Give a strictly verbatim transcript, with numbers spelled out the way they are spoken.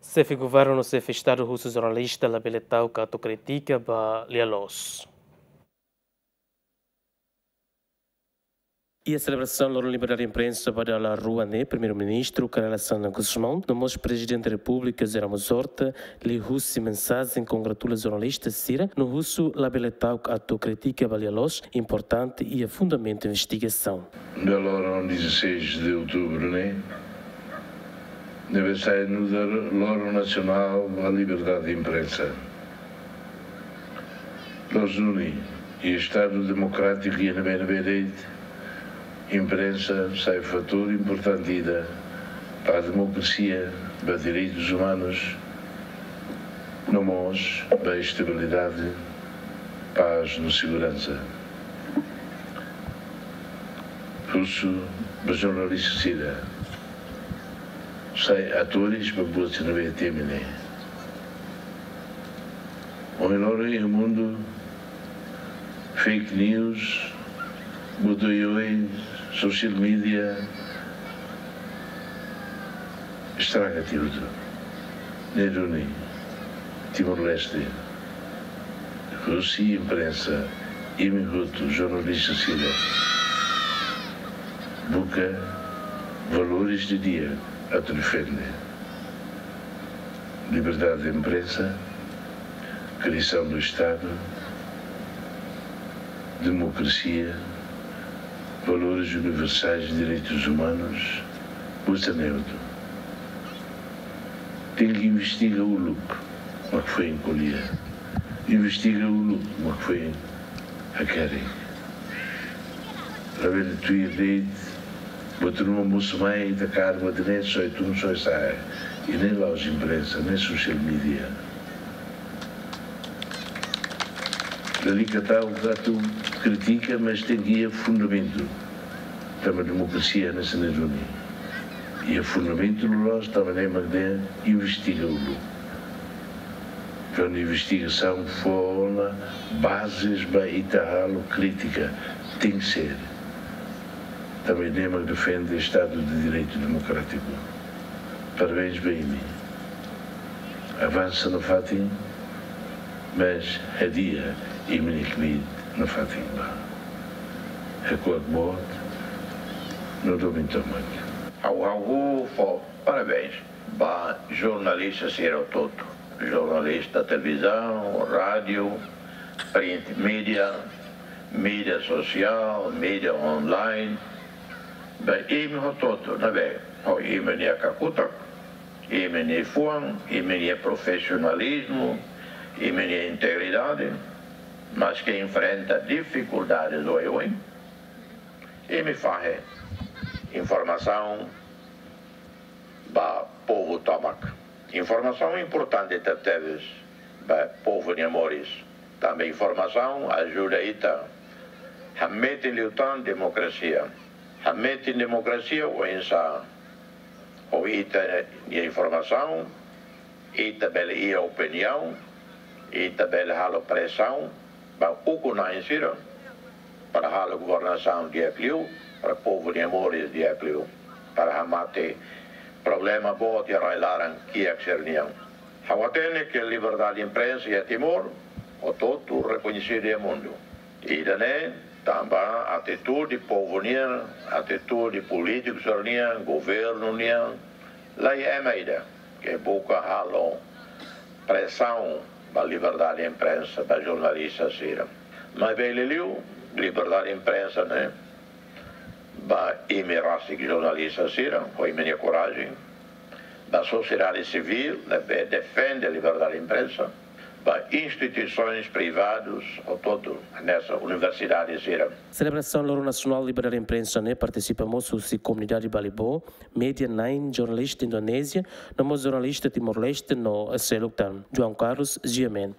Xefe Governu no Xefe Estadu husu jornalista labele ta'uk atu kritika ba lia-loos. Iha selebrasaun loron liberdade imprensa ba dala rua ne'e, Primeiru-Ministru Kay Rala Xanana Gusmão no mós Prezidente Repúblika José Ramos Horta liuhusi mensajen kongratula jornalista sira no husu labele ta'uk atu kritika ba lia-loos, importante iha fundamentu investigasaun. Dala loron dezasseis de outubro ne'e, ne'ebé sai nu'udar Loron Nasionál ba Liberdade de Imprensa. Loos duni, iha Estadu demokrátiku iha ne'ebé-ne'ebé de'it, imprensa sai fatór importante ida ba demokrasia, ba direitus umanus, no mós ba estabilidade, pás no seguransa. Husu ba jornalista sira sai atores ba buat sira ne'ebé temi ne'e. Ohin loron iha mundu, fake news, buat oioin, social media, estraga tiha hotu. Ne'e duni, Timor-Leste, husi imprensa, imi hotu jornalista sira, buka valores di'ak atu defende. Liberdade de imprensa, criação do Estado, democracia, valores universais, direitos humanos, buat sira-ne'e hotu. Tenke investiga uluk mak foin ko'alia. Investiga uluk mak foin hakerek. Labele tuir de'it, buat ruma mosu mai, ita kaer buat ne'e, soe tun, soe sa'e. I ne'e la'ós imprensa, ne'e social media. Lalika ta'uk atu kritika, mas tenke iha fundamentu. Tanba demokrasia hanesan ne'e duni. Iha fundamentu loloos, tanba ne'e mak dehan investiga uluk. Kuandu investigasaun fó ona bazes ba ita halo krítika, tenke ser. Tanba ne'e mak defende Estadu de Direitu Demokrátiku. Parabéns ba imi. Avansa nafatin, mas hadi'a imi-nia kbiit nafatin ba. Hakuak boot, no domin tomak. Ha'u, ha'u fó parabéns ba jornalista sira hotu. Jornalista televizaun, rádiu, print media, mídia sosiál, mídia online. Ba imi hotu ne'ebé ho imi-nia kakutak, imi-nia fuan, imi-nia profisionalizmu, imi-nia integridade, maske enfrenta difikuldades oioin, imi fahe informasaun ba povu tomak. Informasaun importante tebetebes ba povu nia moris. Tanba informasaun ajuda ita hametin liután demokrasia. Hametin demokrasia oinsá? Ho ita-nia informasaun, ita bele iha opiniaun, ita bele halo presaun ba ukun-na'in sira, para halo governasaun di'ak liu, para povu nia moris di'ak liu, para hamate problema boot iha rai-laran kiak sira-nian. Ha'u hatene ke liberdade imprensa iha Timor hotu-hotu rekoñesidu iha mundu. Ida-ne'e tanba atitude povu nian, atitude polítiku sira-nian, governu nian, laiha ema ida ke buka halo presaun ba liberdade imprensa, ba jornalista sira. Maibé liuliu, liberdade imprensa ne'e ba imi rasik jornalista sira, ho imi-nia korajen, ba sosiedade sivíl ne'ebé defende liberdade imprensa, ba instituisoens privadus hotu-hotu, hanesan universidade sira. Selebrasaun Loron Nasionál Liberdade Imprensa ne'e partisipa mós husi komunidade Balibo, Media Nine, jornalista Indonézia, no mós jornalista Timor-Leste no seluk tan. João Carlos, G M N.